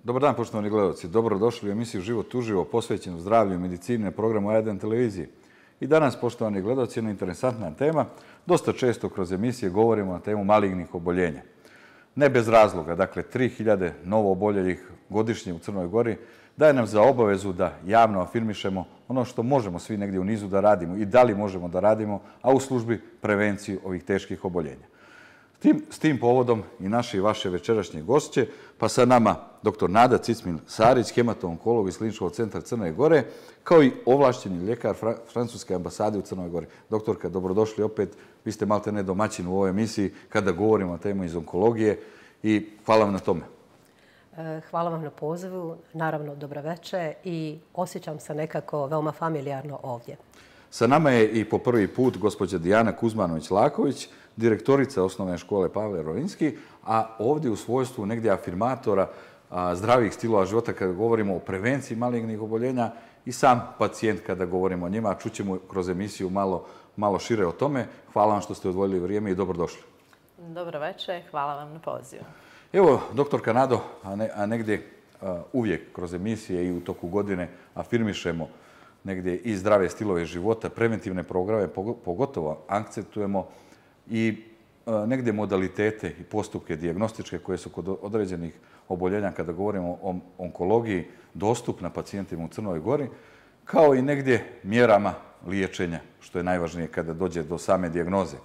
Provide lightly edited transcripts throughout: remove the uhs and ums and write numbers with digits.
Dobar dan, poštovani gledalci. Dobrodošli u emisiju Život uživo, posvećenu zdravlju i medicini na programu A1 televiziji. I danas, poštovani gledalci, jedna interesantna tema. Dosta često kroz emisije govorimo na temu malignih oboljenja. Ne bez razloga, dakle 3000 novo oboljelih godišnje u Crnoj Gori daje nam za obavezu da javno afirmišemo ono što možemo svi negdje u nizu da radimo i da li možemo da radimo, a u službi prevenciju ovih teških oboljenja. S tim povodom i naše i vaše večerašnje gošće, pa sa nama dr. Nada Cicmil-Sarić, hemato-onkolog iz Kliničkog centra Crne Gore, kao i ovlašćeni ljekar Francuske ambasade u Crnoj Gori. Doktorka, dobrodošli opet. Vi ste malte ne domaćin u ovoj emisiji kada govorimo o temu iz onkologije i hvala vam na tome. Hvala vam na pozivu, naravno dobro večer i osjećam se nekako veoma familijarno ovdje. Sa nama je i po prvi put gospođa Dijana Kuzmanović-Laković, direktorica osnovne škole Pavle Rovinski, a ovdje u svojstvu negdje afirmatora zdravih stilova života kada govorimo o prevenciji malignih oboljenja i sam pacijent kada govorimo o njima. Čućemo kroz emisiju malo šire o tome. Hvala vam što ste odvojili vrijeme i dobrodošli. Dobro večer, hvala vam na pozivu. Evo, doktorka Nado, a negdje uvijek kroz emisije i u toku godine afirmišemo negdje i zdrave stilove života, preventivne programe, pogotovo akcentujemo i negdje modalitete i postupke dijagnostičke koje su kod određenih oboljenja kada govorimo o onkologiji dostupna pacijentima u Crnoj Gori, kao i negdje mjerama liječenja, što je najvažnije kada dođe do same dijagnoze.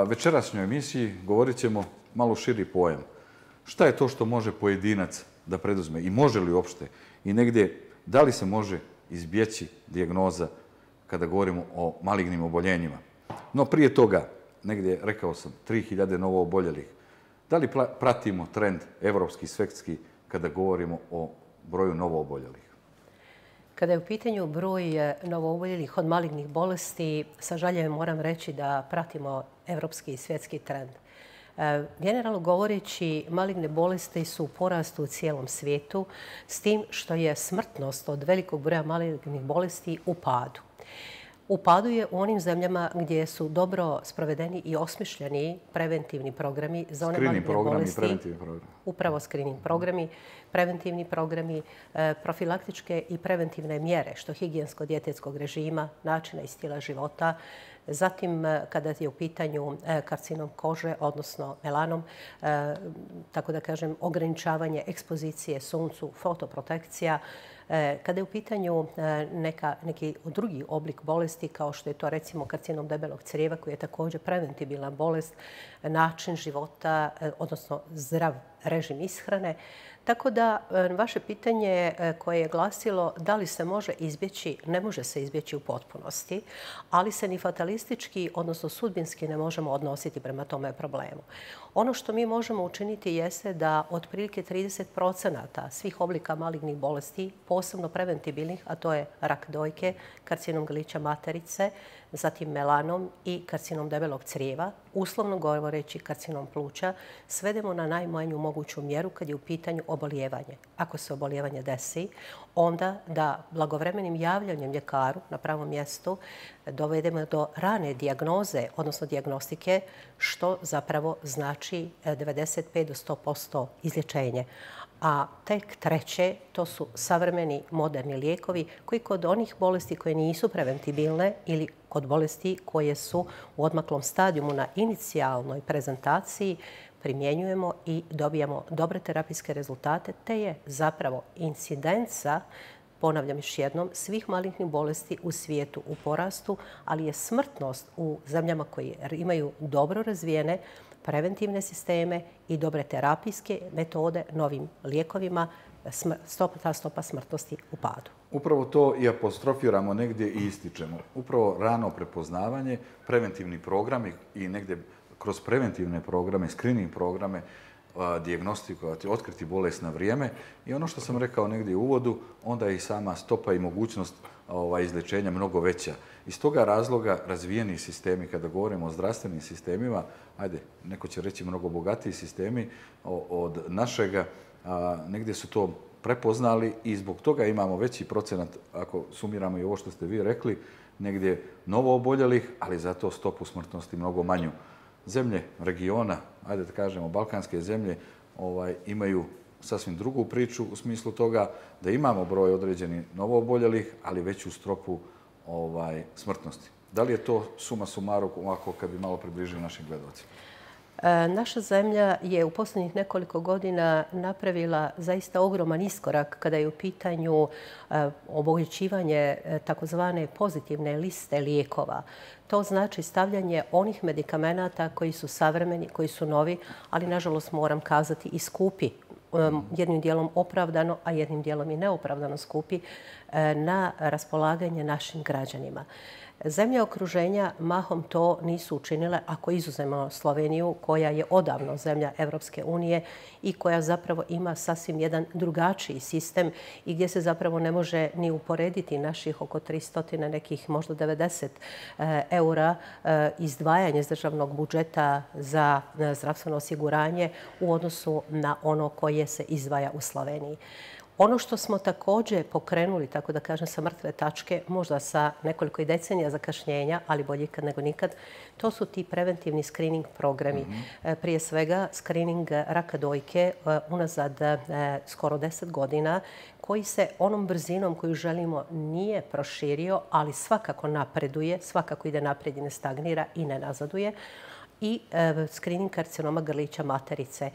Večerašnjoj emisiji govorit ćemo malo širi pojam. Šta je to što može pojedinac da preduzme i može li uopšte i negdje da li se može izbjeći dijagnoza kada govorimo o malignim oboljenjima. No prije toga, negdje rekao sam, 3000 novo oboljelih. Da li pratimo trend evropski, svjetski kada govorimo o broju novo oboljelih? Kada je u pitanju broj novooboljelih od malignih bolesti, sa žaljenjem moram reći da pratimo evropski i svjetski trend. Generalno govoreći, maligne bolesti su u porastu u cijelom svijetu, s tim što je smrtnost od velikog broja malignih bolesti u padu. U padu je u onim zemljama gdje su dobro sprovedeni i osmišljeni preventivni programi za one maligne bolesti. Upravo screening programi, preventivni programi, profilaktičke i preventivne mjere, što higijensko-dijetetskog režima, načina i stila života. Zatim, kada je u pitanju karcinom kože, odnosno melanom, tako da kažem, ograničavanje ekspozicije suncu, fotoprotekcija. Kada je u pitanju neki drugi oblik bolesti, kao što je to recimo karcinom debelog crijeva, koji je također preventibilna bolest, način života, odnosno zdrav režim ishrane. Tako da vaše pitanje koje je glasilo da li se može izbjeći, ne može se izbjeći u potpunosti, ali se ni fatalistički, odnosno sudbinski ne možemo odnositi prema tome problemu. Ono što mi možemo učiniti jeste da otprilike 30% svih oblika malignih bolesti, posebno preventibilnih, a to je rak dojke, karcinom grlića materice, zatim melanom i karcinom debelog crijeva, uslovno govoreći karcinom pluća, svedemo na najmanju moguću mjeru kad je u pitanju obolijevanje. Ako se obolijevanje desi, onda da blagovremenim javljanjem ljekaru na pravom mjestu dovedemo do rane dijagnoze, odnosno dijagnostike, što zapravo znači 95 do 100% izlječenje. A tek treće, to su savremeni moderni lijekovi koji kod onih bolesti koje nisu preventibilne ili kod bolesti koje su u odmaklom stadijumu na inicijalnoj prezentaciji primjenjujemo i dobijamo dobre terapijske rezultate, te je zapravo incidenca, ponavljam još jednom, svih malignih bolesti u svijetu u porastu, ali je smrtnost u zemljama koje imaju dobro razvijene preventivne sisteme i dobre terapijske metode novim lijekovima, ta stopa smrtnosti u padu. Upravo to i apostrofiramo negdje i ističemo. Upravo rano prepoznavanje, preventivni programi i negdje kroz preventivne programe, screening programe, dijagnostikovati, otkriti bolest na vrijeme. I ono što sam rekao negdje u uvodu, onda je i sama stopa i mogućnost izlječenja mnogo veća. Iz toga razloga razvijeni sistemi, kada govorimo o zdravstvenim sistemima, ajde, neko će reći mnogo bogatiji sistemi od našega, negdje su to prepoznali i zbog toga imamo veći procenat, ako sumiramo i ovo što ste vi rekli, negdje novo oboljelih, ali zato stopu smrtnosti mnogo manju. Zemlje regiona, ajde da kažemo balkanske zemlje, imaju sasvim drugu priču u smislu toga da imamo broj određenih novooboljelih, ali veću stopu smrtnosti. Da li je to suma sumarum ovako kad bi malo približili našim gledalcima? Naša zemlja je u posljednjih nekoliko godina napravila zaista ogroman iskorak kada je u pitanju obogaćivanje takozvane pozitivne liste lijekova. To znači stavljanje onih medikamenata koji su savremeni, koji su novi, ali nažalost moram kazati i skupi, jednim dijelom opravdano, a jednim dijelom i neopravdano skupi, na raspolaganje našim građanima. Zemlje okruženja mahom to nisu učinile, ako izuzmemo Sloveniju, koja je odavno zemlja Evropske unije i koja zapravo ima sasvim jedan drugačiji sistem i gdje se zapravo ne može ni uporediti naših oko 300, nekih možda 90 eura izdvajanje iz državnog budžeta za zdravstveno osiguranje u odnosu na ono koje se izdvaja u Sloveniji. Ono što smo također pokrenuli, tako da kažem, sa mrtve tačke, možda sa nekoliko i decenija zakašnjenja, ali bolje ikad nego nikad, to su ti preventivni screening programi. Prije svega, screening raka dojke unazad skoro 10 godina, koji se onom brzinom koju želimo nije proširio, ali svakako napreduje, svakako ide naprijed i ne stagnira i ne nazaduje. I screening karcinoma grlića materice.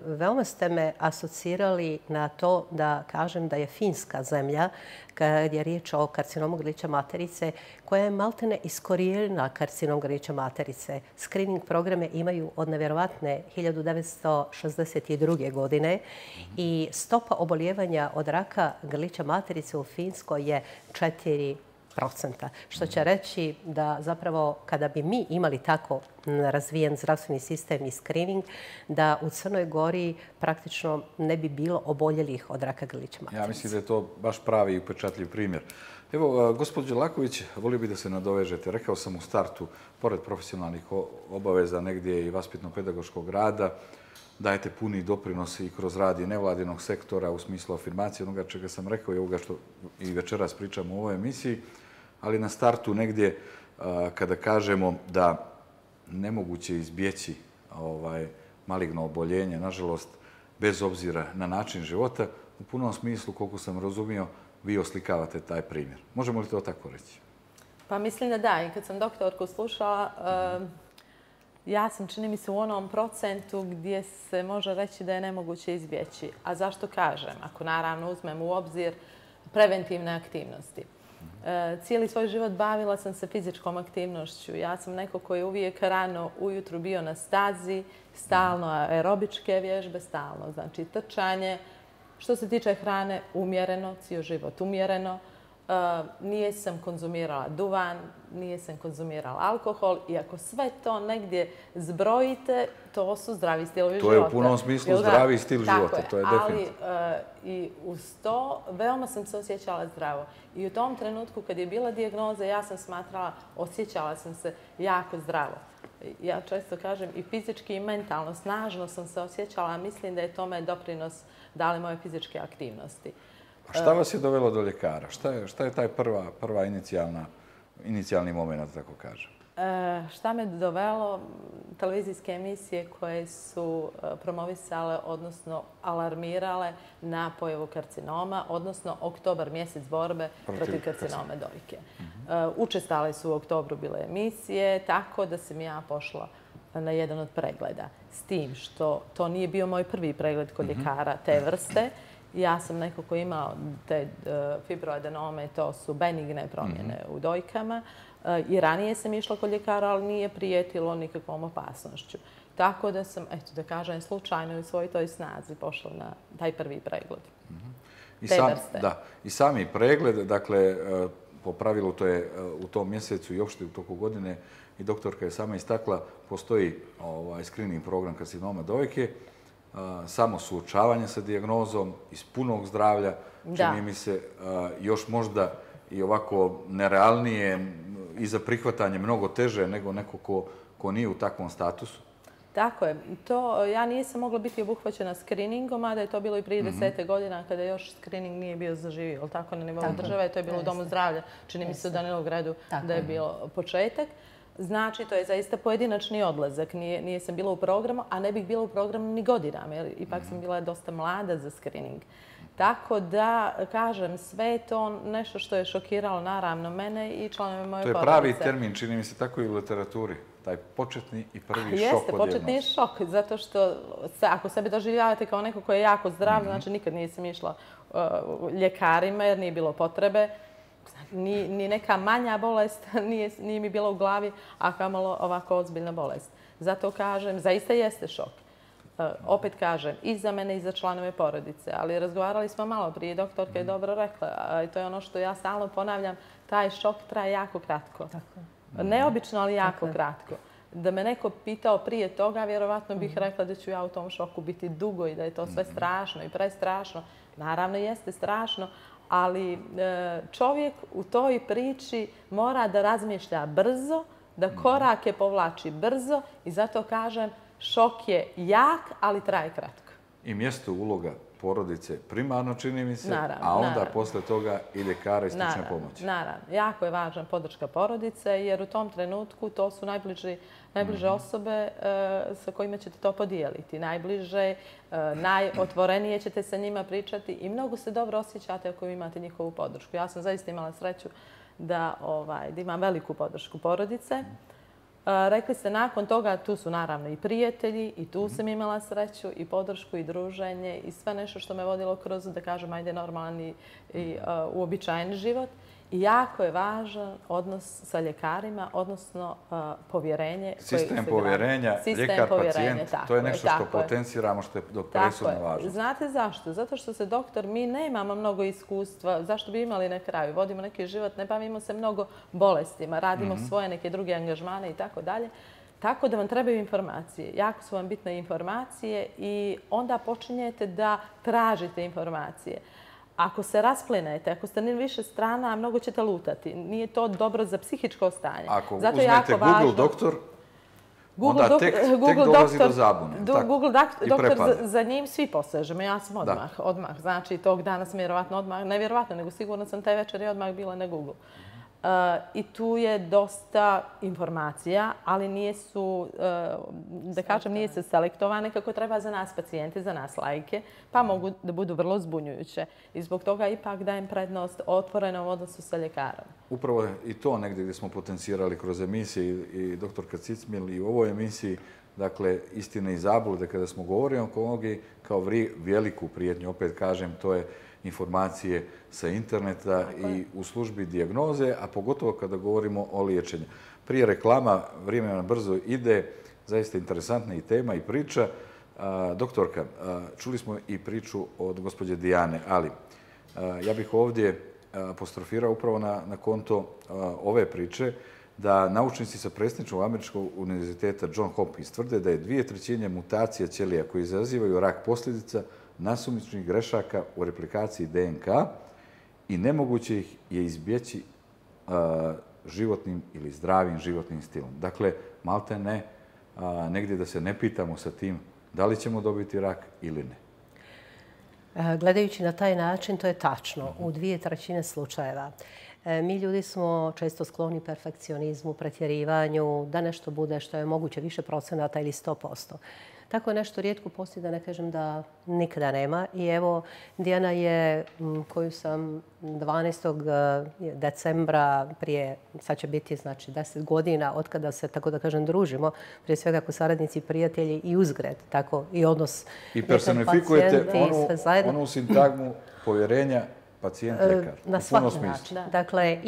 Veoma ste me asocirali na to da kažem da je Finska zemlja, kad je riječ o karcinomu grlića materice, koja je maltene iskorijenila karcinom grlića materice. Screening programe imaju od nevjerovatne 1962. godine i stopa obolijevanja od raka grlića materice u Finskoj je 4%. Što će reći da zapravo kada bi mi imali tako razvijen zdravstveni sistem i screening, da u Crnoj Gori praktično ne bi bilo oboljelih od raka grlića materice. Ja mislim da je to baš pravi i upečatljiv primjer. Evo, gospođo Laković, volio bih da se nadovežete. Rekao sam u startu, pored profesionalnih obaveza, negdje i vaspitno-pedagoškog rada, dajete puni doprinos i kroz rad i nevladinog sektora u smislu afirmacije onoga čega sam rekao i ovoga što i večeras pričamo u ovoj emisiji, ali na startu negdje kada kažemo da nemoguće izbjeći maligno oboljenje, nažalost, bez obzira na način života, u punom smislu, koliko sam razumio, vi oslikavate taj primjer. Možemo li to tako reći? Pa mislim da da. I kad sam doktorku slušala, ja sam, čini mi se, u onom procentu gdje se može reći da je nemoguće izbjeći. A zašto kažem? Ako naravno uzmem u obzir preventivne aktivnosti. Cijeli svoj život bavila sam se fizičkom aktivnošću. Ja sam neko koji je uvijek rano ujutru bio na stazi, stalno aerobičke vježbe, stalno. Znači trčanje. Što se tiče hrane, umjereno, cijeli život umjereno. Nijesam konzumirala duvan, nijesam konzumirala alkohol i ako sve to negdje zbrojite, to su zdravi stilovi života. To je u punom smislu zdravi stil života, to je definitivno. Ali i uz to veoma sam se osjećala zdravo. I u tom trenutku kad je bila dijagnoza, ja sam smatrala, osjećala sam se jako zdravo. Ja često kažem i fizički i mentalno, snažno sam se osjećala, a mislim da je tome doprinos dale moje fizičke aktivnosti. A šta vas je dovelo do ljekara? Šta je taj prva inicijalni moment, tako kažem? Šta me dovelo? Televizijske emisije koje su promovisale, odnosno alarmirale na pojavu karcinoma, odnosno oktobar, mjesec borbe protiv karcinoma dojke. Učestale su u oktobru bile emisije, tako da sam ja pošla na jedan od pregleda. S tim što to nije bio moj prvi pregled kod ljekara te vrste. Ja sam neko ko imao te fibroadenome, to su benigne promjene u dojkama. I ranije sam išla kod ljekara, ali nije prijetilo nikakvom opasnošću. Tako da sam, eto da kažem, slučajno u svojoj toj snazi pošla na taj prvi pregled. Te vrste. Da, i sami pregled, dakle, po pravilu to je u tom mjesecu i uopšte u toku godine, i doktorka je sama istakla, postoji screening program karcinoma dojke, samo suočavanje sa dijagnozom iz punog zdravlja, čini mi se još možda i ovako nerealnije i za prihvatanje mnogo teže nego neko ko nije u takvom statusu. Tako je. Ja nisam mogla biti obuhvaćena screeningom, a da je to bilo i prije 10 godina kada još screening nije bio zaživio. Tako na nivou države, to je bilo u Domu zdravlja. Čini mi se u Danilogradu da je bilo početak. Znači, to je zaista pojedinačni odlazak. Nije sam bila u programu, a ne bih bila u programu ni godinama, jer ipak sam bila dosta mlada za screening. Tako da, kažem, sve je to nešto što je šokiralo naravno mene i članove moje porodice. To je pravi termin, čini mi se tako i u literaturi. Taj početni i prvi šok od dijagnoze. Jeste, početni šok, zato što ako sebe doživljavate kao neko koji je jako zdrav, znači nikad nisam išla ljekarima jer nije bilo potrebe. Ni neka manja bolest nije mi bila u glavi, a kamalo ovako ozbiljna bolest. Zato kažem, zaista jeste šok. Opet kažem, i za mene i za članove porodice, ali razgovarali smo malo prije, doktorka je dobro rekla, i to je ono što ja stalno ponavljam, taj šok traje jako kratko. Neobično, ali jako kratko. Da me neko pitao prije toga, vjerovatno bih rekla da ću ja u tom šoku biti dugo i da je to sve strašno i prestrašno. Naravno, jeste strašno, ali čovjek u toj priči mora da razmišlja brzo, da korake povlači brzo i zato kažem šok je jak, ali traje kratko. I mjesto uloga porodice primarno čini mi se, a onda posle toga i ljekara i stručne pomoći. Naravno. Jako je važna podrška porodice jer u tom trenutku to su najbliže osobe sa kojima ćete to podijeliti. Najbliže, najotvorenije ćete sa njima pričati i mnogo se dobro osjećate ako imate njihovu podršku. Ja sam zaista imala sreću da imam veliku podršku porodice. Rekli ste, nakon toga tu su naravno i prijatelji i tu sam imala sreću i podršku i druženje i sve nešto što me vodilo kroz, da kažem, ajde normalan i uobičajeni život. I jako je važan odnos sa ljekarima, odnosno povjerenje. Sistem povjerenja, ljekar-pacijent, to je nešto što potenciramo, što je presudno važno. Znate zašto? Zato što se doktor, mi nemamo mnogo iskustva. Zašto bi imali na kraju? Vodimo neki život, ne bavimo se mnogo bolestima, radimo svoje neke druge angažmane i tako dalje. Tako da vam trebaju informacije. Jako su vam bitne informacije i onda počinjete da tražite informacije. Ako se rasplinete, ako ste na više strana, mnogo ćete lutati. Nije to dobro za psihičko stanje. Ako uzmete Google doktor, onda tek dolazi do zabune. Google doktor, za njim svi posežemo. Ja sam odmah. Znači, tog dana sam vjerovatno odmah, ne vjerovatno, nego sigurno sam taj večer i odmah bila na Google. I tu je dosta informacija, ali nije se selektovane kako treba za nas pacijente, za nas lajke, pa mogu da budu vrlo zbunjujuće. I zbog toga ipak dajem prednost otvorenom odnosu sa ljekarom. Upravo je i to negdje gdje smo potencirali kroz emisije i doktorka Cicmil i u ovoj emisiji, dakle, istine i zablude, kada smo govorili o onkologiji kao veliku prijetnju, opet kažem, to je informacije sa interneta i u službi dijagnoze, a pogotovo kada govorimo o liječenju. Prije reklama, vrijeme nam brzo ide, zaista interesantna i tema i priča. Doktorka, čuli smo i priču od gospođe Dijane, ali ja bih ovdje apostrofirao upravo na konto ove priče da naučnici sa predsjedničkog američkog univerziteta John Hopkins tvrde da je 2/3 mutacija ćelija koji izazivaju rak posljedica nasumičnih grešaka u replikaciji DNK i nemoguće ih je izbjeći životnim ili zdravim životnim stilom. Dakle, malte ne, negdje da se ne pitamo sa tim da li ćemo dobiti rak ili ne. Gledajući na taj način, to je tačno. U 2/3 slučajeva. Mi ljudi smo često skloni perfekcionizmu, pretjerivanju, da nešto bude što je moguće više procenata ili 100%. Tako nešto rijetko postoji, da ne kažem da nikada nema. I evo, Dijana je, koju sam 12. decembra prije, sad će biti znači 10 godina od kada se, tako da kažem, družimo, prije svega ako saradnici, prijatelji i uzgred, tako i odnos. I personifikujete onu sintagmu povjerenja pacijent-ljekar. Na svaki način. Dakle,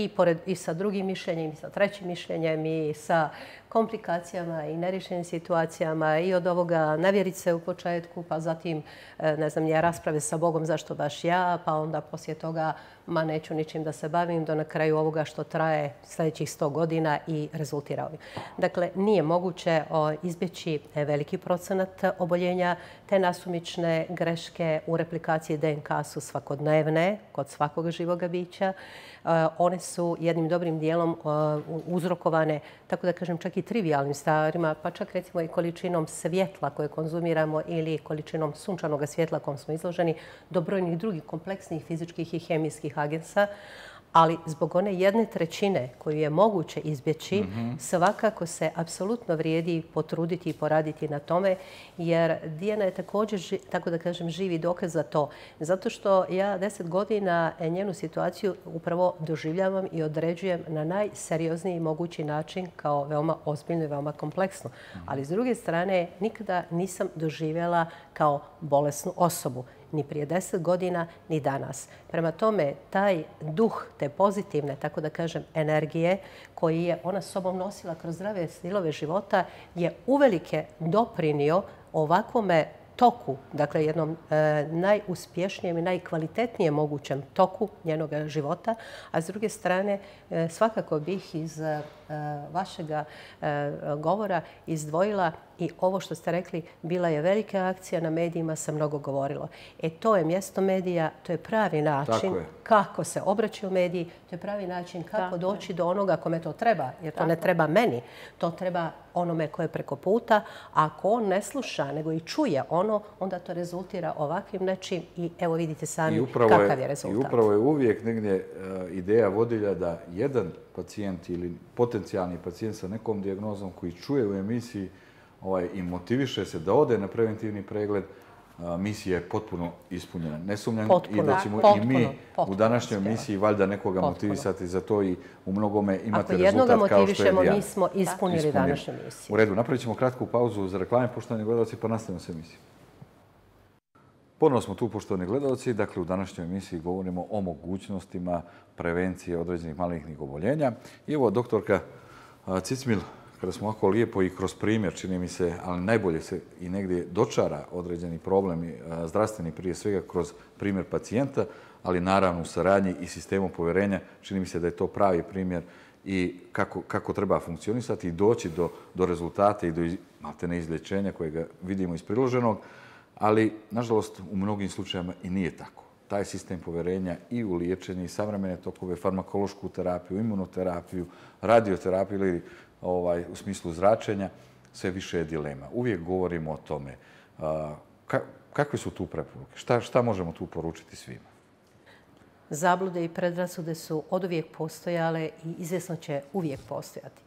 i sa drugim mišljenjem, i sa trećim mišljenjem, i sa komplikacijama i nerješenim situacijama i od ovoga nevjerice u početku, pa zatim, ne znam, rasprave sa Bogom zašto baš ja, pa onda poslije toga ma neću ničim da se bavim, do na kraju ovoga što traje sljedećih 100 godina i rezultira ovim. Dakle, nije moguće izbjeći veliki procenat oboljenja. Te nasumične greške u replikaciji DNK su svakodnevne kod svakog živoga bića. One su jednim dobrim dijelom uzrokovane, tako da kažem, čak i trivialnim stvarima, pa čak recimo i količinom svjetla koje konzumiramo ili količinom sunčanog svjetla kojom smo izloženi, do brojnih drugih kompleksnih fizičkih i hemijskih agensa. ali zbog one 1/3 koju je moguće izbjeći, svakako se apsolutno vrijedi potruditi i poraditi na tome, jer Dijana je također, tako da kažem, živi dokaz za to. Zato što ja 10 godina njenu situaciju upravo doživljavam i određujem na najseriozniji mogući način kao veoma ozbiljno i veoma kompleksno. Ali s druge strane, nikada nisam doživjela kao bolesnu osobu. Ni prije 10 godina, ni danas. Prema tome, taj duh te pozitivne, tako da kažem, energije koji je ona sobom nosila kroz zdrave stilove života je uvelike doprinio ovakvome toku, dakle jednom najuspješnijem i najkvalitetnijem mogućem toku njenog života, a s druge strane svakako bih iz vašega govora izdvojila i ovo što ste rekli, bila je velika akcija na medijima, se mnogo govorilo. To je mjesto medija, to je pravi način kako se obraćaju mediji, to je pravi način kako doći do onoga kome to treba, jer to ne treba meni, to treba onome koje je preko puta, a ako on ne sluša, nego i čuje ono, onda to rezultira ovakvim nečim i evo vidite sami kakav je rezultat. I upravo je uvijek negdje ideja vodilja da jedan pacijent ili potencijalni pacijent sa nekom dijagnozom koji čuje u emisiji i motiviše se da ode na preventivni pregled, misija je potpuno ispunjena. Ne sumnjam i da ćemo i mi u današnjoj emisiji valjda nekoga motivisati za to i u mnogome imate rezultat kao što je Dijana. Ako jednoga motivišemo, mi smo ispunili današnju misiju. U redu, napravit ćemo kratku pauzu za reklame, poštovani gledalci, pa nastavimo s emisijom. Ponovno smo tu, poštovani gledalci. Dakle, u današnjoj emisiji govorimo o mogućnostima prevencije određenih malignih oboljenja. I evo, doktorka Cicmil, kada smo ovako lijepo i kroz primjer, čini mi se, ali najbolje se i negdje dočara određeni problemi zdravstveni, prije svega kroz primjer pacijenta, ali naravno u saradnji i sistemu povjerenja, čini mi se da je to pravi primjer i kako treba funkcionisati i doći do rezultata i do maltene izlječenja kojega vidimo iz priloženog, ali nažalost u mnogim slučajevima i nije tako. Taj sistem povjerenja i u liječenje i savremene tokove, farmakološku terapiju, imunoterapiju, radioterapiju ili u smislu zračenja, sve više je dilema. Uvijek govorimo o tome. Kakve su tu preporuke? Šta možemo tu poručiti svima? Zablude i predrasude su oduvijek postojale i izvjesno će uvijek postojati.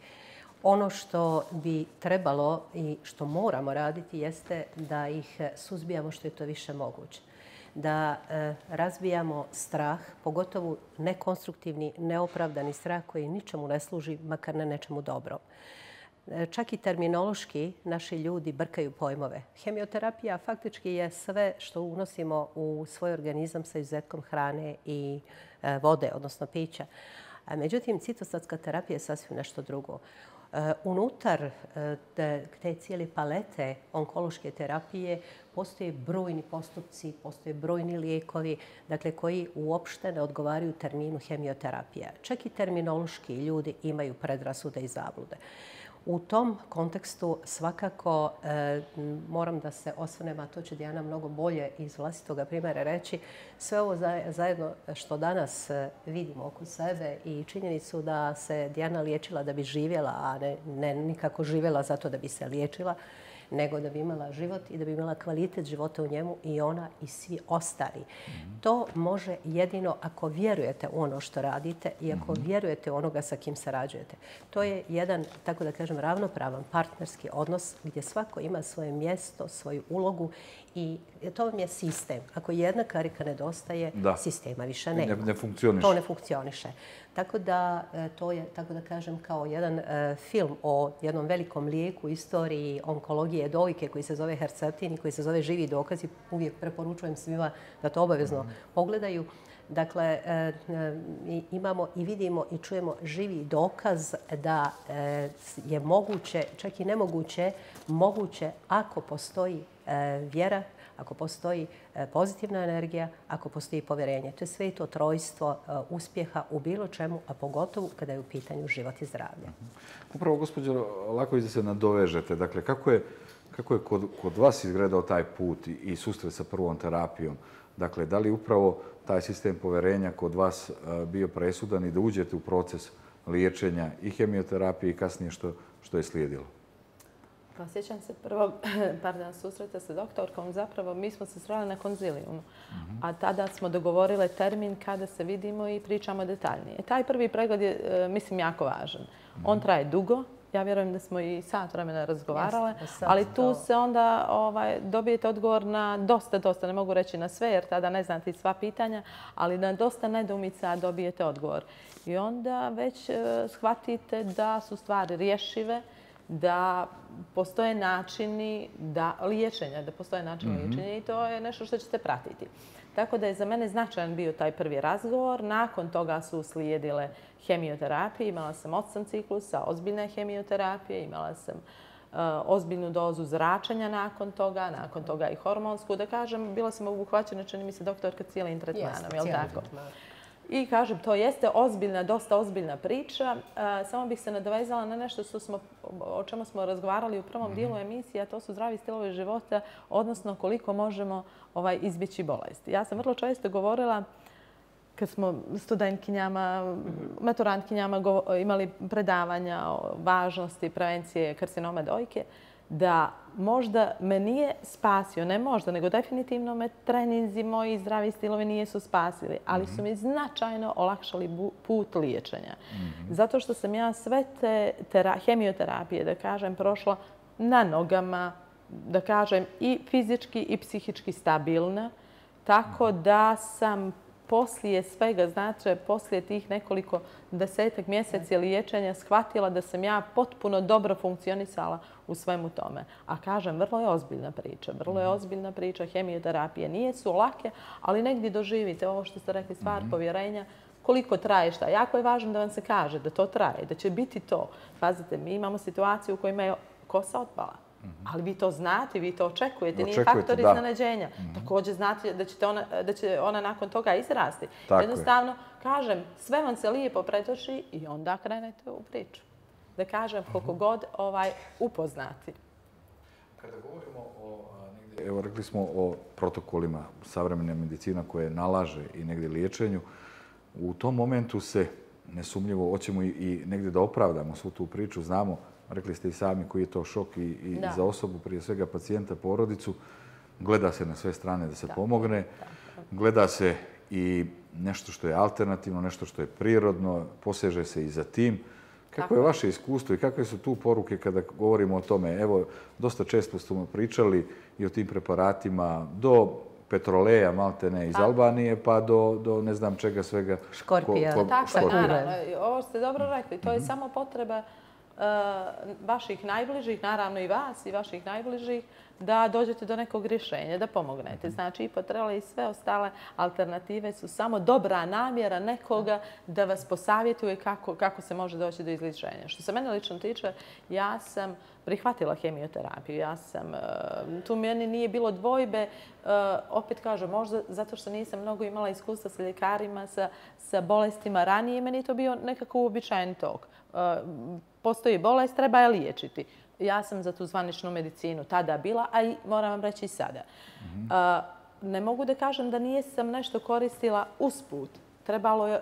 Ono što bi trebalo i što moramo raditi jeste da ih suzbijamo što je to više moguće. Da razbijamo strah, pogotovo nekonstruktivni, neopravdani strah koji ničemu ne služi, makar ne nečemu dobro. Čak i terminološki naši ljudi brkaju pojmove. Hemioterapija faktički je sve što unosimo u svoj organizam sa izuzetkom hrane i vode, odnosno pića. Međutim, citostatska terapija je sasvim nešto drugo. Unutar te cijele palete onkološke terapije postoje brojni postupci, postoje brojni lijekovi, dakle, koji uopšte ne odgovaraju terminu hemioterapija. Čak i terminološki ljudi imaju predrasude i zablude. U tom kontekstu svakako moram da se osvrnem, a to će Dijana mnogo bolje iz vlastitoga primjera reći, sve ovo zajedno što danas vidimo oko sebe i činjenicu da se Dijana liječila da bi živjela, a ne nikako živjela zato da bi se liječila, nego da bi imala život i da bi imala kvalitet života u njemu i ona i svi ostali. To može jedino ako vjerujete u ono što radite i ako vjerujete u onoga sa kim sarađujete. To je jedan, tako da kažem, ravnopravan partnerski odnos gdje svako ima svoje mjesto, svoju ulogu i to vam je sistem. Ako jedna karika nedostaje, sistema više nema. Ne funkcioniše. To ne funkcioniše. Tako da to je, tako da kažem, kao jedan film o jednom velikom lijeku u istoriji onkologije dojke koji se zove Herceptin i koji se zove Živi dokazi. Uvijek preporučujem svima da to obavezno pogledaju. Dakle, imamo i vidimo i čujemo živi dokaz da je moguće, čak i nemoguće, moguće ako postoji vjera, ako postoji pozitivna energija, ako postoji povjerenje. To je sve to trojstvo uspjeha u bilo čemu, a pogotovo kada je u pitanju život i zdravlje. Upravo, gospođo Laković, da se nadovežete. Dakle, kako je kod vas izgledao taj put i susret sa prvom terapijom? Dakle, da li upravo taj sistem povjerenja kod vas bio presudan i da uđete u proces liječenja i hemioterapije i kasnije što je slijedilo? Pa sjećam se prvog susreta sa doktorkom. Zapravo mi smo se sreli na konzilijumu. A tada smo dogovorile termin kada se vidimo i pričamo detaljnije. Taj prvi pregled je, mislim, jako važan. On traje dugo. Ja vjerujem da smo i sat vremena razgovarale, ali tu se onda dobijete odgovor na dosta, ne mogu reći na sve jer tada ne znate sva pitanja, ali na dosta nedoumica dobijete odgovor. I onda već shvatite da su stvari rješive, da postoje načini liječenja, i to je nešto što ćete pratiti. Tako da je za mene značajan bio taj prvi razgovor. Nakon toga su slijedile hemioterapije. Imala sam 8 ciklusa ozbiljne hemioterapije, imala sam ozbiljnu dozu zračenja nakon toga i hormonsku. Da kažem, bila sam obuhvaćena, čini mi se, doktorka cijelim tretmanom, je li tako? I kažem, to jeste dosta ozbiljna priča. Samo bih se nadovezala na nešto o čemu smo razgovarali u prvom dijelu emisije, a to su zdravi stilovi života, odnosno koliko možemo izbjeći bolesti. Ja sam vrlo često govorila, kad smo studentkinjama, maturantkinjama imali predavanja o važnosti prevencije karcinoma dojke, da možda me nije spasio, ne možda, nego definitivno me treninzi moji zdravi stilovi nisu spasili, ali su mi značajno olakšali put liječenja. Zato što sam ja sve te hemioterapije, da kažem, prošla na nogama, da kažem, i fizički i psihički stabilna, tako da sam poslije svega, znači poslije tih nekoliko desetak mjeseci liječenja shvatila da sam ja potpuno dobro funkcionisala u svemu tome. A kažem, vrlo je ozbiljna priča. Hemioterapije nisu lake, ali negdje doživite ovo što ste rekli, stvar povjerenja, koliko traje šta. Jako je važno da vam se kaže da to traje, da će biti to. Pazite, mi imamo situaciju u kojima je kosa otpala. Ali vi to znate, vi to očekujete, nije faktor iznenađenja. Također znate da će ona nakon toga izrasti. Jednostavno, kažem, sve vam se lijepo pretoči i onda krenete u priču. Da kažem, koliko god upoznati. Kada govorimo evo rekli smo o protokolima savremene medicina koje nalaže i negdje liječenju, u tom momentu se nesumnjivo hoćemo i negdje da opravdamo svu tu priču, znamo. Rekli ste i sami koji je to šok i za osobu, prije svega pacijenta, porodicu. Gleda se na sve strane da se pomogne. Gleda se i nešto što je alternativno, nešto što je prirodno, poseže se i za tim. Kako je vaše iskustvo i kakve su tu poruke kada govorimo o tome? Evo, dosta često smo pričali i o tim preparatima do petroleja, maltene iz Albanije, pa do ne znam čega svega. Škorpija. Tako, naravno. Ovo ste dobro rekli. To je samo potreba vaših najbližih, naravno i vas i vaših najbližih, da dođete do nekog rješenja, da pomognete. Znači, i petrole i sve ostale alternative su samo dobra namjera nekoga da vas posavjetuje kako se može doći do izlječenja. Što se mene lično tiče, ja sam prihvatila hemioterapiju. Tu meni nije bilo dvojbe, opet kažem, možda zato što nisam mnogo imala iskustva sa ljekarima, sa bolestima ranije, meni je to bio nekako uobičajen tok. Postoji bolest, treba je liječiti. Ja sam za tu zvaničnu medicinu tada bila, a i moram vam reći i sada. Ne mogu da kažem da nisam nešto koristila usput. Trebalo je,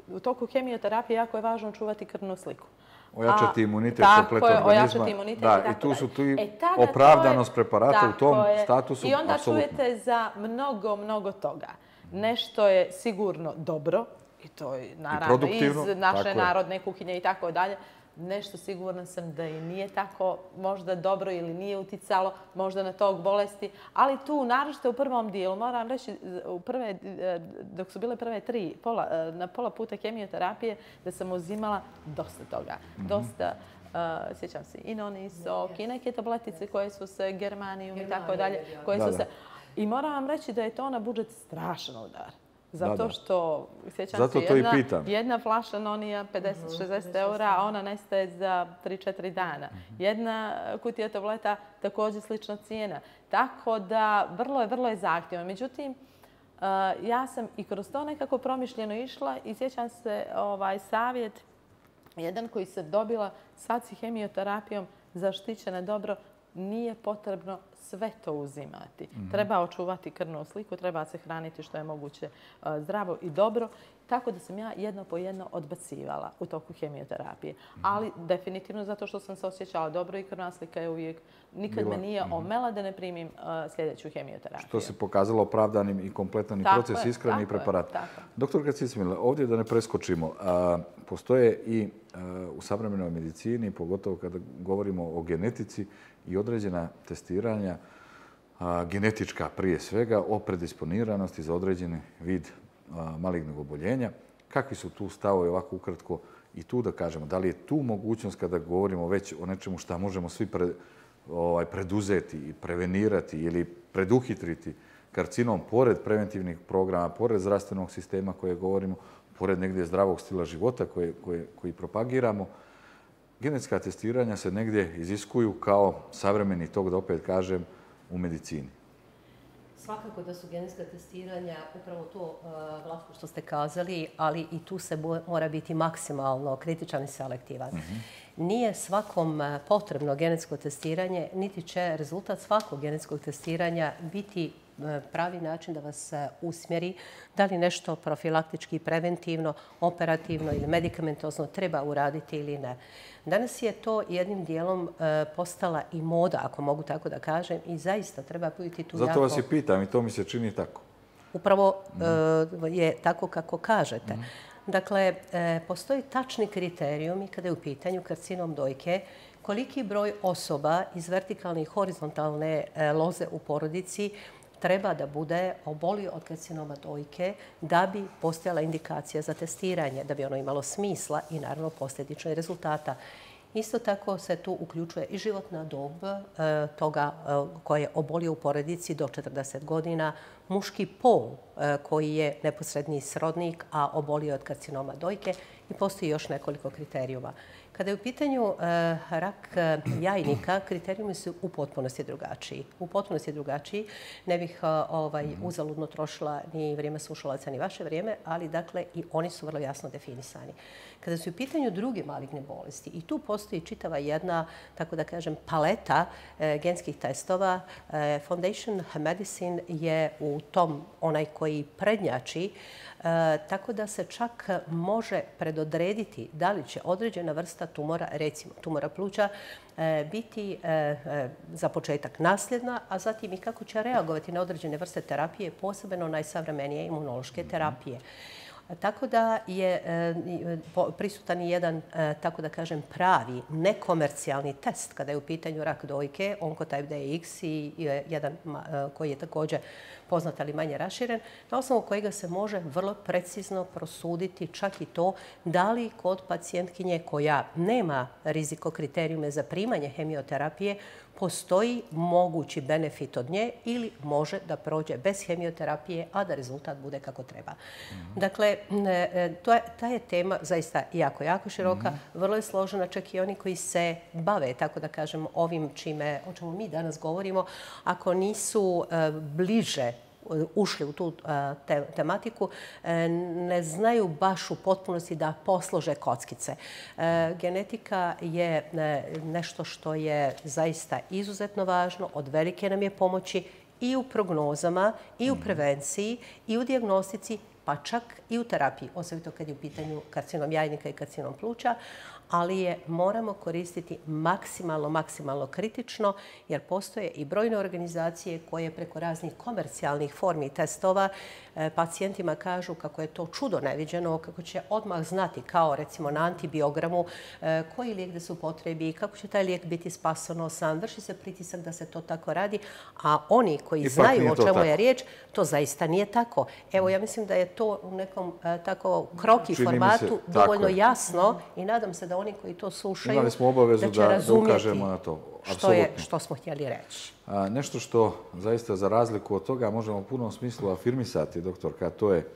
u toku hemioterapije jako je važno čuvati krvnu sliku. Ojačati imunitet kompletno organizma. Ojačati imunitet i tako dalje. I tu su opravdanost preparata u tom statusu. I onda čujete za mnogo toga. Nešto je sigurno dobro, i to je naravno iz naše narodne kuhinje i tako dalje. Nešto sigurna sam da i nije tako možda dobro ili nije uticalo možda na tog bolesti, ali tu, naročito u prvom dijelu, moram reći, dok su bile prve 3, na pola puta hemioterapije, da sam uzimala dosta toga. Dosta, sjećam se, i nonisok, i neke tabletice koje su se, germanijum i tako dalje, koje su se... I moram vam reći da je to na budžet strašan udar. Zato što, sjećam se, jedna flaša nonija 50-60 eura, a ona nestaje za 3-4 dana. Jedna kutija tableta također slična cijena. Tako da vrlo je zahtjevno. Međutim, ja sam i kroz to nekako promišljeno išla i sjećam se savjet, jedan koji sam dobila sad si hemioterapijom zaštićena dobro, nije potrebno sve to uzimati. Treba očuvati krvnu sliku, treba se hraniti što je moguće zdravo i dobro. Tako da sam ja jedno po jedno odbacivala u toku hemioterapije. Ali definitivno zato što sam se osjećala dobro i krvna slika je uvijek, nikad me nije omela da ne primim sljedeću hemioterapiju. Što se pokazalo opravdanim i kompletan i proces ishrane i preparat. Doktor Cicmila, ovdje da ne preskočimo, postoje i u savremenoj medicini, pogotovo kada govorimo o genetici i određena testiranja, genetička prije svega, o predisponiranosti za određeni vid malignog oboljenja. Kakvi su tu stavovi ovako ukratko i tu da kažemo? Da li je tu mogućnost kada govorimo već o nečemu što možemo svi preduzeti i prevenirati ili preduhitriti karcinom pored preventivnih programa, pored zdravstvenog sistema koje govorimo, pored negdje zdravog stila života koji propagiramo? Genetska testiranja se negdje iziskuju kao savremeni tok, da opet kažem, u medicini. Svakako da su genetska testiranja upravo to, Vlatko, što ste kazali, ali i tu se mora biti maksimalno kritičan i selektivan. Nije svakom potrebno genetsko testiranje, niti će rezultat svakog genetskog testiranja biti pravi način da vas usmjeri da li nešto profilaktički, preventivno, operativno ili medikamentozno treba uraditi ili ne. Danas je to jednim dijelom postala i moda, ako mogu tako da kažem, i zaista treba biti tu jako... Zato vas i pitam i to mi se čini tako. Upravo je tako kako kažete. Dakle, postoji tačni kriterijumi kada je u pitanju karcinom dojke, koliki broj osoba iz vertikalne i horizontalne loze u porodici treba da bude obolio od karcinoma dojke da bi postojala indikacija za testiranje, da bi ono imalo smisla i naravno posljedično i rezultata. Isto tako se tu uključuje i životna dob toga koji je obolio u porodici do 40 godina, muški pol koji je neposredni srodnik, a obolio od karcinoma dojke i postoji još nekoliko kriterijuma. Kada je u pitanju rak jajnika, kriterijumi su u potpunosti drugačiji. U potpunosti drugačiji. Ne bih uzaludno trošila ni vrijeme slušalaca, ni vaše vrijeme, ali dakle i oni su vrlo jasno definisani. Kada su u pitanju druge maligne bolesti, i tu postoji čitava jedna, tako da kažem, paleta genskih testova. Foundation Medicine je u tom onaj koji prednjači, tako da se čak može predodrediti da li će određena vrsta tumora, recimo tumora pluća, biti za početak nasljedna, a zatim i kako će reagovati na određene vrste terapije, posebno najsavremenije imunološke terapije. Tako da je prisutan i jedan, tako da kažem, pravi, nekomercijalni test kada je u pitanju rak dojke, Oncotype DX i jedan koji je također poznat ali manje raširen, na osnovu kojega se može vrlo precizno prosuditi čak i to da li kod pacijentkinje koja nema rizikokrterijume za primanje hemioterapije postoji mogući benefit od nje ili može da prođe bez hemioterapije, a da rezultat bude kako treba. Dakle, ta je tema zaista jako, jako široka, vrlo je složena, čak i oni koji se bave, tako da kažem, ovim o čemu mi danas govorimo, ako nisu bliže ušli u tu tematiku, ne znaju baš u potpunosti da poslože kockice. Genetika je nešto što je zaista izuzetno važno, od velike nam je pomoći i u prognozama, i u prevenciji, i u dijagnostici, pa čak i u terapiji, osobito kad je u pitanju karcinom jajnika i karcinom pluća, ali je moramo koristiti maksimalno kritično, jer postoje i brojne organizacije koje preko raznih komercijalnih formi testova pacijentima kažu kako je to čudo neviđeno, kako će odmah znati, kao recimo na antibiogramu, koji lijek da se upotrebi, kako će taj lijek biti spasonosan, vrši se pritisak da se to tako radi, a oni koji znaju o čemu je riječ, to zaista nije tako. Evo, ja mislim da je to u nekom tako kroki formatu dovoljno jasno i nadam se da oni koji to slušaju da će razumjeti što smo htjeli reći. Nešto što zaista za razliku od toga možemo u punom smislu afirmisati, doktorka, to je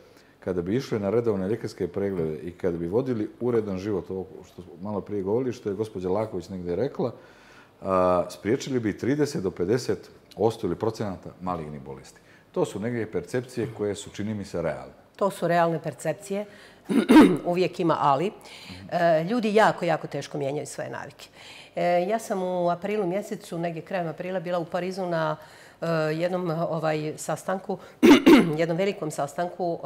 kada bi išli na redovne ljekarske preglede i kada bi vodili uredan život, ovo što smo malo prije govorili, što je gospođa Laković negdje rekla, spriječili bi 30 do 50% ili procenata malignih bolesti. To su negdje percepcije koje su, čini mi se, realne. To su realne percepcije. Uvijek ima ali. Ljudi jako, jako teško mijenjaju svoje navike. Ja sam u aprilu mjesecu, negdje krajem aprila, bila u Parizu na jednom sastanku, jednom velikom sastanku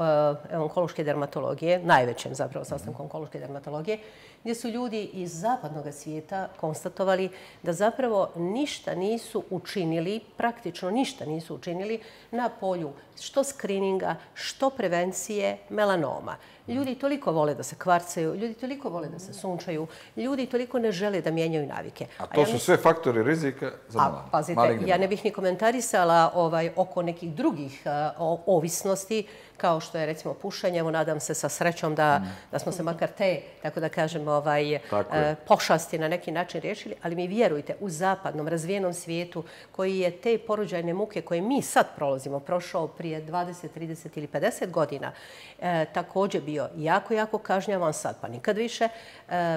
onkološke dermatologije, najvećem zapravo sastanku onkološke dermatologije, gdje su ljudi iz zapadnog svijeta konstatovali da zapravo ništa nisu učinili, praktično ništa nisu učinili na polju što skrininga, što prevencije melanoma. Ljudi toliko vole da se kvarcaju, ljudi toliko vole da se sunčaju, ljudi toliko ne žele da mijenjaju navike. A to su sve faktori rizika za melanom. Pazite, ja ne bih ni komentarisala oko nekih drugih ovisnosti, kao što je recimo pušenje. Evo, nadam se sa srećom da smo se makar te, tako da kažem, pošasti na neki način riješili, ali mi vjerujte, u zapadnom, razvijenom svijetu koji je te porođajne muke koje mi sad prolazimo, prošao prije 20, 30 ili 50 godina, također bio jako, jako kažnjavan, sad pa nikad više.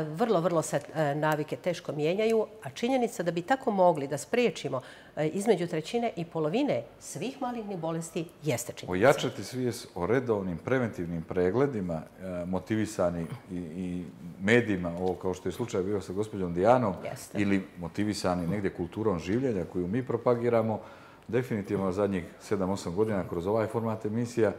Vrlo, vrlo se navike teško mijenjaju, a činjenica da bi tako mogli da spriječimo između trećine i polovine svih malignih bolesti jeste činjenica. Ojačati svijest o redovnim preventivnim pregledima, motivisani i medijima, ovo kao što je slučaj bio sa gospođom Dijanom, ili motivisani negdje kulturom življenja koju mi propagiramo, definitivno zadnjih 7-8 godina kroz ovaj format emisija,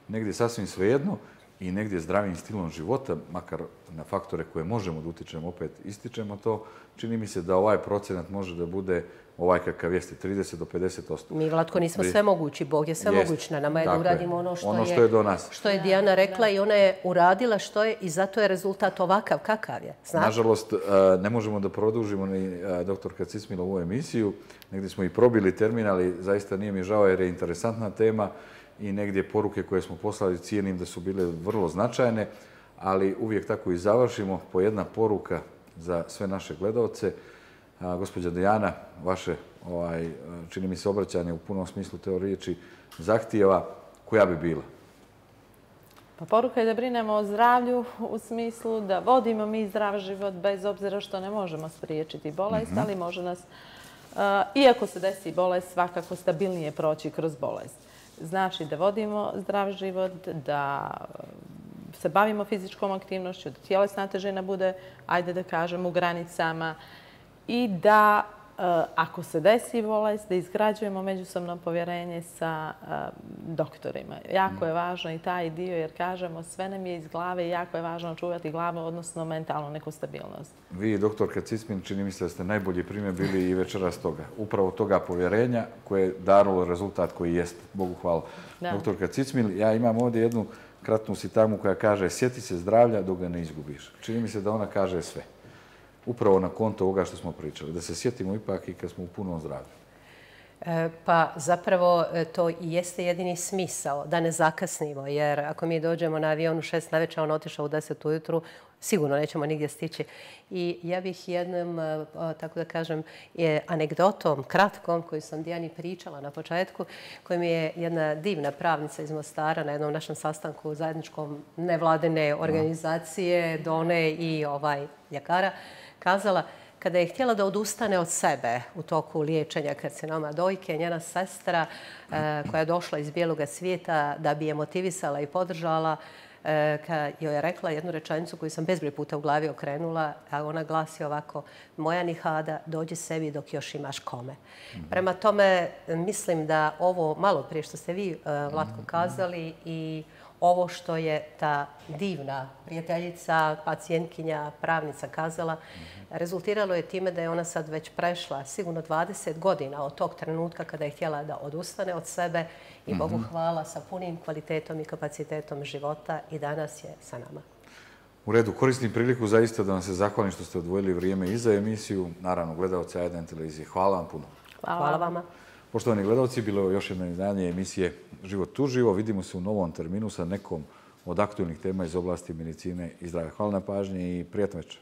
negdje sasvim svejedno i negdje zdravim stilom života, makar na faktore koje možemo da utičemo, opet ističemo to, čini mi se da ovaj procenat može da bude ovaj kakav jeste, 30 do 50%. Mi, Vlatko, nismo svemogući. Bog je svemoguć. Na nama je da uradimo ono što je do nas. Što je Dijana rekla i ona je uradila što je i zato je rezultat ovakav kakav je. Nažalost, ne možemo da produžimo ni doktorka Cismila ovu emisiju. Negdje smo i probili termin, ali zaista nije mi žao jer je interesantna tema i negdje poruke koje smo poslali cijenim da su bile vrlo značajne, ali uvijek tako i završimo po jedna poruka za sve naše gledalce. Gospođa Dijana, vaše, čini mi se, obraćanje u punom smislu te riječi zahtijeva, koja bi bila? Pa poruka je da brinemo o zdravlju u smislu da vodimo mi zdrav život bez obzira što ne možemo spriječiti bolest, ali može nas, iako se desi bolest, svakako stabilnije proći kroz bolest. Znači da vodimo zdrav život, da se bavimo fizičkom aktivnošću, da tjelesna težina bude, ajde da kažem, u granicama i da, ako se desi bolest, da izgrađujemo međusobno povjerenje sa doktorima. Jako je važno i taj dio, jer kažemo, sve nam je iz glave i jako je važno čuvati glavu, odnosno mentalnu neku stabilnost. Vi, doktorka Cismin, čini mi se da ste najbolji primjer bili i večeras toga. Upravo toga povjerenja koje je darilo rezultat koji jest. Bogu hvala. Doktorka Cismin, ja imam ovdje jednu kratnu sintagmu koja kaže sjeti se zdravlja dok ga ne izgubiš. Čini mi se da ona kaže sve. Upravo na konto ovoga što smo pričali, da se sjetimo ipak i kad smo u punom zdravlju. Pa zapravo to i jeste jedini smisao, da ne zakasnimo, jer ako mi dođemo na avion u 6 navečer, on otišao u 10 ujutru, sigurno nećemo nigdje stići. I ja bih jednom, tako da kažem, anegdotom, kratkom, koju sam Dijani pričala na početku, koju mi je jedna divna pravnica iz Mostara na jednom našem sastanku zajedničkom nevladine organizacije, Done i ljekara, kazala, kada je htjela da odustane od sebe u toku liječenja karcinoma dojke, njena sestra koja je došla iz bijeloga svijeta da bi je motivisala i podržala, joj je rekla jednu rečenicu koju sam bezbroj puta u glavi okrenula, a ona glasi ovako: moja Nihada, dođi sebi dok još imaš kome. Prema tome, mislim da ovo malo prije što ste vi, Vlatko, kazali i ovo što je ta divna prijateljica, pacijentkinja, pravnica kazala, rezultiralo je time da je ona sad već prešla sigurno 20 godina od tog trenutka kada je htjela da odustane od sebe i Bogu hvala sa punim kvalitetom i kapacitetom života i danas je sa nama. U redu, koristim priliku zaista da vam se zahvalim što ste odvojili vrijeme i za emisiju. Naravno, gledalci A1 televizije. Hvala vam puno. Hvala vama. Poštovani gledalci, bilo je još jedno izdanje emisije Život uživo. Vidimo se u novom terminu sa nekom od aktualnih tema iz oblasti medicine i zdravlja. Hvala na pažnji i prijatno večer.